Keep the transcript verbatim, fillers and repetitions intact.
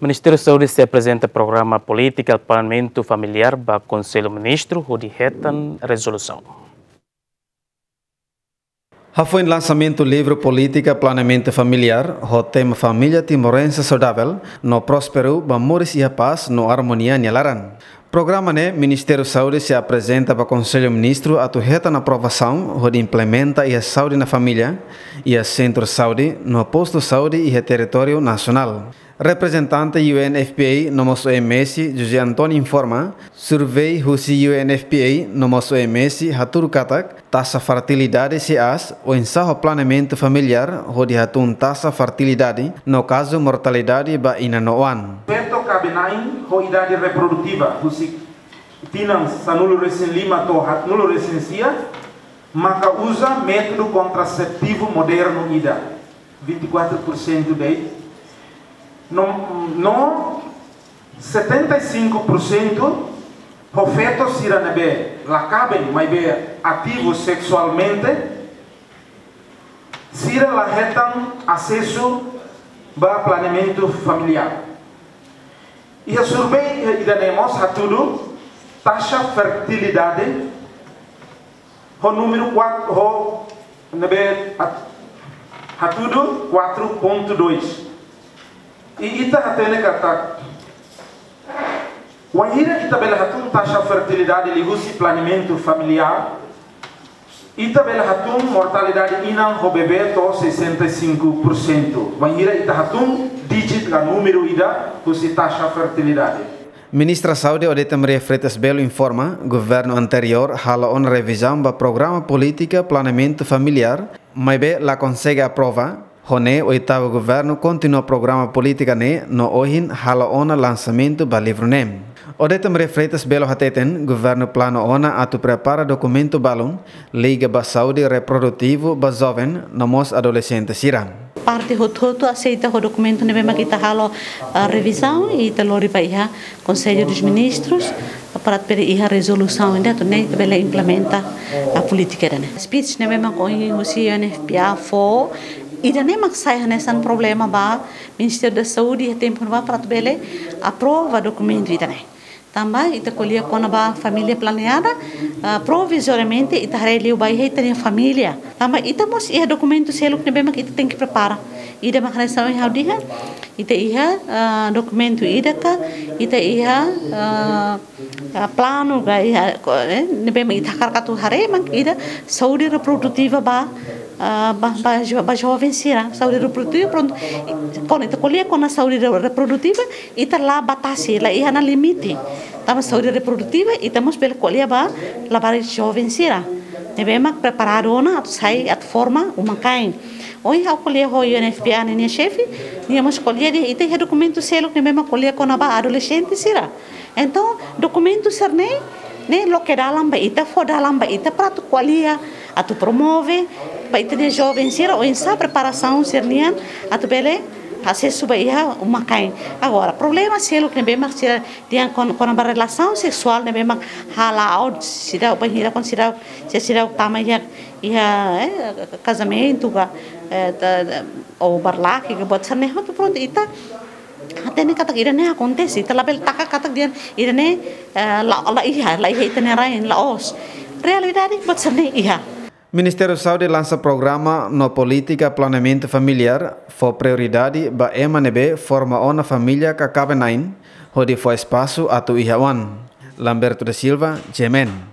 Ministériu Saúde sei aprezenta programa polítika planeamentu familiár ba Konsellu Ministru hodi hetan rezolusaun. Hafoin lansamentu livru polítika planeamentu familiár ho tema Família Timorense Saudável no Prósperu ba Moris iha Pás no Armonia nia laran. Programa ne'e Ministériu Saúde sei aprezenta ba Konsellu Ministru atu hetan aprovasaun hodi implementa iha saúde na família, iha sentru saúde no postu saúde iha territóriu nasionál. Reprezentante U N F P A no mós O M S, José António informa, survey husi U N F P A no mós O M S hatudu katak taxa fertilidade sei aas oinsá ho planeamentu familiár hodi hatún taxa fertilidade no kazu mortalidade ba inan no oan. Feto kaben-na'in ho idade reprodutiva husi tinan sanulu-resin-lima to'o haatnulu-resin-sia maka uza métodu kontraseptivu modernu ida, vinte e quatro por cento de'it. No, no setenta e cinco por cento ho feto sira ne'ebé la kaben, maibé ativu seksualmente, sira la hetan asesu ba planeamentu familiár. Iha survey ida-ne'e mós hatudu taxa fertilidade ho númeru quatro, ho ne'ebé at-, hatudu quatro ponto dois. I ita hatene katak, wainhira ita bele hatún taxa fertilidade liuhusi planeamentu familiár, ita bele hatún mortalidade inan ho bebé to'o sessenta e cinco por cento. Wainhira ita hatún díjitu ka númeru ida husi taxa fertilidade. Ministra Saúde Odete Maria Freitas Belo informa, governu anteriór hala'o ona revizaun ba programa polítika planeamentu familiár, maibé la konsege aprova. Ho ne'e oitavu governu kontinua programa polítika ne'e no ohin hala'o ona lansamentu ba livru ne'e. Odete Maria Freitas Belo hateten, governu planu ona atu prepara dokumentu balun liga ba saúde reprodutivu ba joven no mós adolexente sira. Parte hotu-hotu aseita ho dokumentu ne'ebé mak ita halo, ah, revizaun, i ita lori ba iha Konsellu dos Ministrus, para atu bele iha rezolusaun ida atu nune'e ita bele implementa, ah, polítika ida-ne'e. Speech ne'ebé mak ohin husi U N F P A fó, ida-ne'e mak sai hanesan problema ba Ministériu da Saúde iha tempu ne'ebá para atu bele aprova dokumentu ida-ne'e. Tanba ita ko'alia kona-ba família planeada, ah, provizoriamente ita haree liu ba iha ita-nia família. Tanba ita mós iha dokumentu seluk ne'ebé mak ita tenke prepara. Ida mak hanesan ohin ha'u dehan, ita iha, ah, dokumentu ida ka, ita iha, ah, ah, planu ka, iha, ko-, eh, ne'ebé mak ita hakarak atu haree mak ida saúde reprodutiva ba, ah, ba, ba jo-, ba joven sira. Saúde reprodutiva, prontu, kuandu ita ko'alia kona saúde re-, reprodutiva, ita la batasi, la iha ona limite. Tanba saúde reprodutiva, ita mós bele ko'alia ba labarik joven sira ne'ebé mak preparadu ona atu sai, atu forma uma-kain. Ohin ha'u ko'alia ho U N F P A ninia xefe, nia mós ko'alia dehan ita iha dokumentu seluk ne'ebé mak ko'alia kona-ba adolexente sira. Entaun, dokumentu sira-ne'e, ne'e loke dalan ba ita, fó dalan ba ita para atu ko'alia, atu promove ba ita-nia joven sira oinsá preparasaun sira-nian atu bele asesu ba iha uma-kain. Agora, problema seluk ne'ebé mak sira dehan kon-, kona-ba relasaun seksuál ne'ebé mak hala'o seidauk, bainhira kuandu seidauk, se seidauk tama iha, iha, eh, kazamentu ka, eh, ta, ta, ou barlake ka, buat sira-ne'e hotu, prontu, ita hatene katak ida-ne'e akontese, ita labele taka katak dehan ida-ne'e, eh, la, la iha, la iha ita-nia rain, la'ós. Realidade buat sira-ne'e iha. Ministériu Saúde lansa programa no polítika planeamentu familiár, fó prioridade ba ema ne'ebé forma ona família ka kaben-na'in, hodi fó espasu atu iha oan. Lamberto da Silva, G M N.